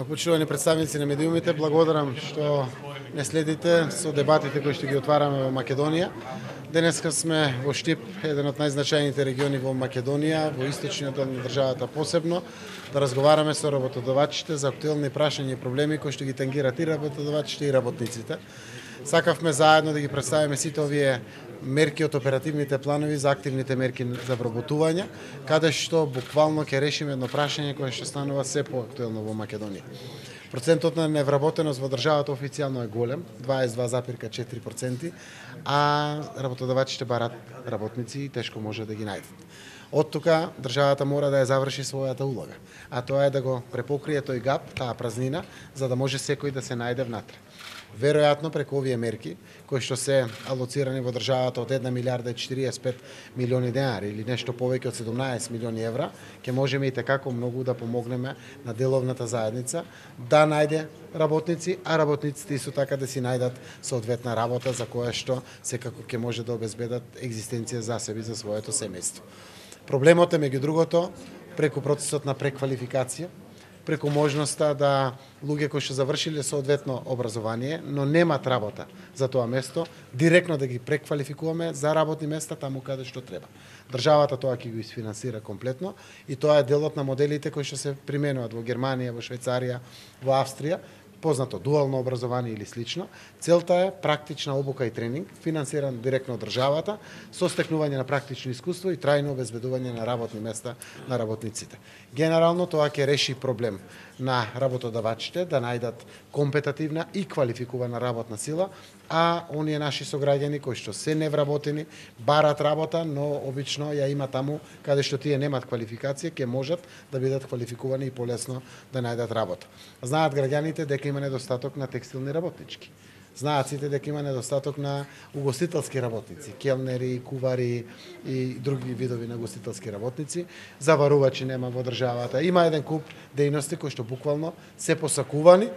Почитувани представници на медиумите, благодарам што не следите со дебатите кои што ги отвараме во Македонија. Денеска сме во Штип, еден од најзначајните региони во Македонија, во источниот дел на државата посебно, да разговараме со работодавачите за актуелни прашања и проблеми кои што ги тангираат и работодавачите и работниците. Сакавме заедно да ги представиме сите овие мерки од оперативните планови за активните мерки за вработување, каде што буквално ќе решиме едно прашање кое што станува се поактуелно во Македонија. Процентот на невработеност во државата официјално е голем, 22,4%, а работодавачите барат работници и тешко може да ги најдат. Од тука државата мора да ја заврши својата улога, а тоа е да го препокрие тој гап, таа празнина, за да може секој да се најде внатре. Веројатно преку овие мерки кои што се алоцирани во државата од 1 милиарда и 45 милиони денари или нешто повеќе од 17 милиони евра, ќе можеме и tekako многу да помогнеме на деловната заедница да најде работници, а работниците исто така да си најдат соодветна работа за која што секако ќе може да обезбедат екзистенција за себе и за своето семејство. Проблемот е меѓу другото преку процесот на преквалификација, преку можноста да луѓе кои што завршиле соодветно образование, но немат работа за тоа место, директно да ги преквалификуваме за работни места таму каде што треба. Државата тоа ќе го isfinansира комплетно и тоа е делот на моделите кои што се применуваат во Германија, во Швајцарија, во Австрија, познато дуално образование или слично. Целта е практична обука и тренинг, финансиран директно од државата, со стекнување на практично искуство и трајно обезбедување на работни места на работниците. Генерално тоа ќе реши проблем на работодавачите да најдат компетативна и квалификувана работна сила, а оние наши сограѓани кои што се невработени, барат работа, но обично ја има таму каде што тие немат квалификација, ќе можат да бидат квалификувани и полесно да најдат работа. Знаат граѓаните дека има недостаток на текстилни работнички. Знаат сите дека има недостаток на угостителски работници, келнери, кувари и други видови на угостителски работници. Заварувачи нема во државата. Има еден куп дејности кои што буквално се посакувани,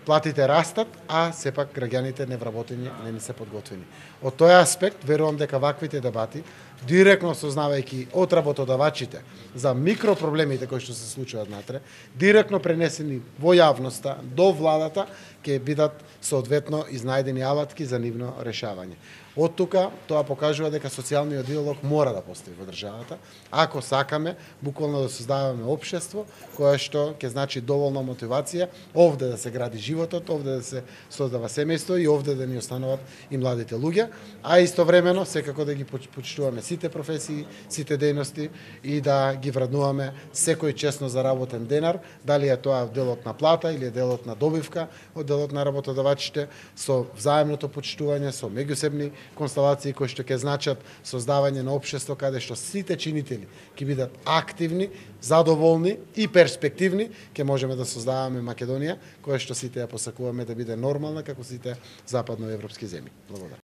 платите растат, а сепак граѓаните невработени не ни се подготвени. Од тој аспект, верувам дека ваквите дебати, директно сознавајќи од работодавачите за микропроблемите кои што се случуваат натре, директно пренесени во јавноста, до владата, ќе бидат соодветно изнајдени алатки за нивно решавање. Од тука тоа покажува дека социјалниот диалог мора да постои во државата, ако сакаме буквално да создаваме општество кое што ќе значи доволна мотивација овде да се гради животот, овде да се создава семејство и овде да ни остануваат и младите луѓе, а истовремено секако да ги почитуваме сите професии, сите дејности и да ги вреднуваме секој честно заработен денар, дали е тоа делот на плата или е делот на добивка од делот на работодавачите, со взаемното почитување, со меѓусебни констелации кои што ќе значат создавање на општество каде што сите чинители ќе бидат активни, задоволни и перспективни, ќе можеме да создаваме Македонија, која што сите ја посакуваме да биде нормална како сите западноевропски земји. Благодарам.